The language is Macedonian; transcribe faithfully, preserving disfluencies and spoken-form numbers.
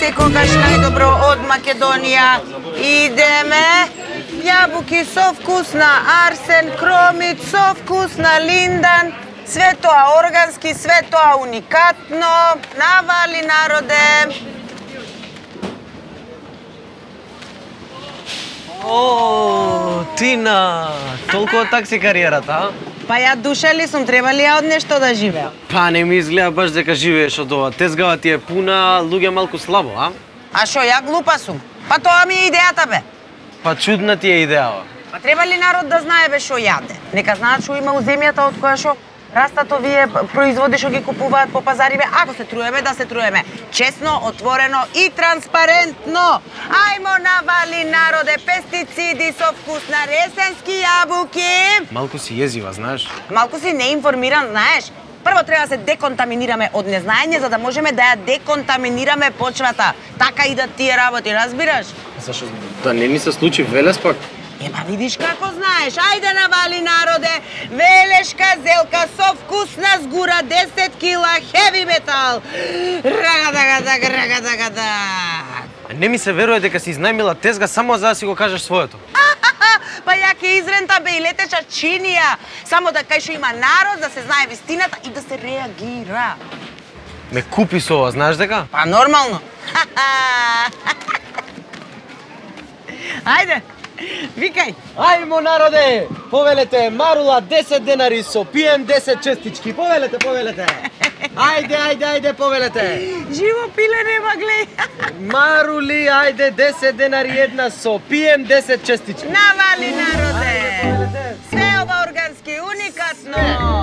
секогаш најдобро од Македонија. Идеме. Јабуки со вкус на арсен, кромит со вкус на линдан. Све тоа органски, све тоа уникатно. Навали, народе. О, Тина, толку од такси кариерата, а? Па ја душа ли сум, треба ли ја од нешто да живеа? Па не ми изгледа баш дека живееш од ова. Тезгава ти е пуна, луѓе малку слабо, а? А шо, ја глупа сум? Па тоа ми е идејата, бе. Па чудна ти е идејава. Па треба ли народ да знае бе шо јаде? Нека знаат шо има у земјата од која шо растат овие производи што ги купуваат по пазари, бе. Ако се труеме, да се труеме честно, отворено и транспарентно. Ајмо навали, народе, пестициди со вкус на ресенски јабуки. Малку си језива, знаеш? Малку си неинформиран, знаеш. Прво треба да се деконтаминираме од незнаење, за да можеме да ја деконтаминираме почвата. Така и да тие работи, разбираш? Зашо да не ни се случи велес пак? Ема видиш како знаеш, ајде навали, народе, велешка зелка со вкусна згура, десет кила хеви метал. Рагадагадак, рагадагадак. Не ми се верува дека си изнајмила тезга само за да си го кажеш своето. Па ја ке изрента бе и летеча чинија, само да кај шо има народ, да се знае вистината и да се реагира. Ме купи со ова, знаеш дека? Па нормално. Ајде. Викај! Ајмо, народе! Повелете, Марула десет денари со пием десет честички. Повелете, повелете! Ајде, ајде, ајде, повелете! Живо пиле нема, глеј! Марули, ајде, десет денари една со пием десет честички. Навали, народе! Све ова органски, уникатно!